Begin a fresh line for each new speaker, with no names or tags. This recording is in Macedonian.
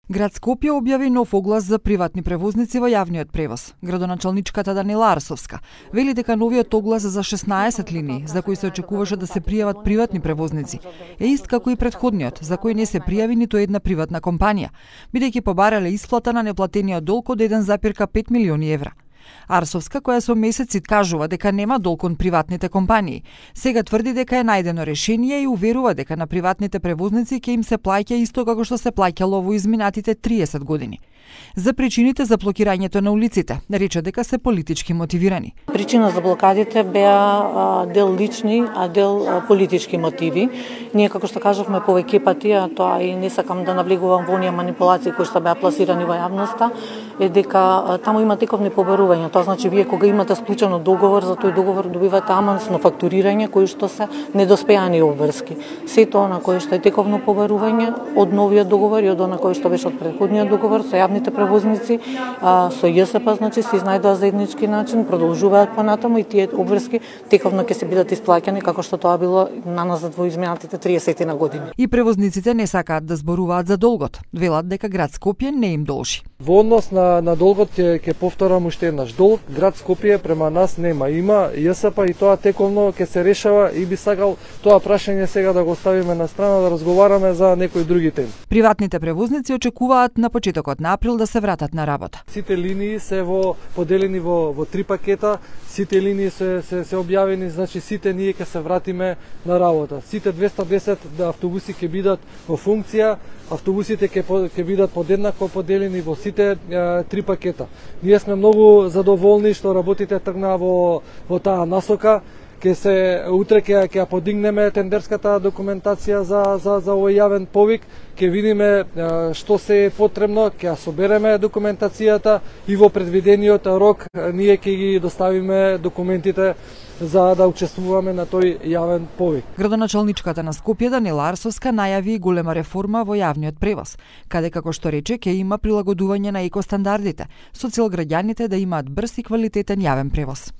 Град Скопје објави нов оглас за приватни превозници во јавниот превоз. Градоначалничката Данила Арсовска вели дека новиот оглас за 16 линии, за кои се очекуваше да се пријават приватни превозници, е ист како и претходниот, за кој не се пријави ниту една приватна компанија, бидејќи побарале исплата на неплатениот долг од 1,5 милиони евра. Арсовска, која со месеци кажува дека нема долг кон приватните компании, сега тврди дека е најдено решение и уверува дека на приватните превозници ќе им се плаќа исто како што се плаќало во изминатите 30 години. За причините за блокирањето на улиците, рече дека се политички мотивирани.
Причина за блокадите беа дел лични, а дел политички мотиви. Ние, како што кажавме повеќе пати, а тоа и не сакам да навлегувам во оние манипулации кои што беа пласирани во јавноста, е дека таму има тековни побарувања. Тоа значи вие кога имате склучено договор, за тој договор добивате авансно фактурирање кои што се недоспеани обврски. Сето на кој што е тековно побарување од новиот договор и од она кој што беше од претходниот договор со јавните превозници, со ЈСП, значи се изнајдува заеднички начин, продолжуваат понатаму и тие обврски тековно ќе се бидат исплаќани како што тоа било наназад во изминатите 30 на години.
И превозниците не сакаат да зборуваат за долгот. Велат дека град Скопје не им должи.
Во однос на долгот ќе повторам уште еднаш. Долг град Скопје према нас нема. Има ЈСП и тоа тековно ќе се решава и би сакал тоа прашање сега да го ставиме на страна да разговараме за некои други теми.
Приватните превозници очекуваат на почетокот на април да се вратат на работа.
Сите линии се поделени во 3 пакета, сите линии се објавени, значи сите ние ќе се вратиме на работа. Сите 210 автобуси ќе бидат во функција, автобусите ќе бидат подеднакво поделени во сите 3 пакета. Ние сме многу задоволни што работите тргнаа во таа насока. Утре ќе подигнеме тендерската документација за овој јавен повик, ќе видиме што се е потребно, ќе ја собереме документацијата и во предвидениот рок ние ќе ги доставиме документите за да учествуваме на тој јавен повик.
Градоначалничката на Скопје Данила Арсовска најави голема реформа во јавниот превоз, каде како што рече ќе има прилагодување на екостандардите, со цел граѓаните да имаат брз и квалитетен јавен превоз.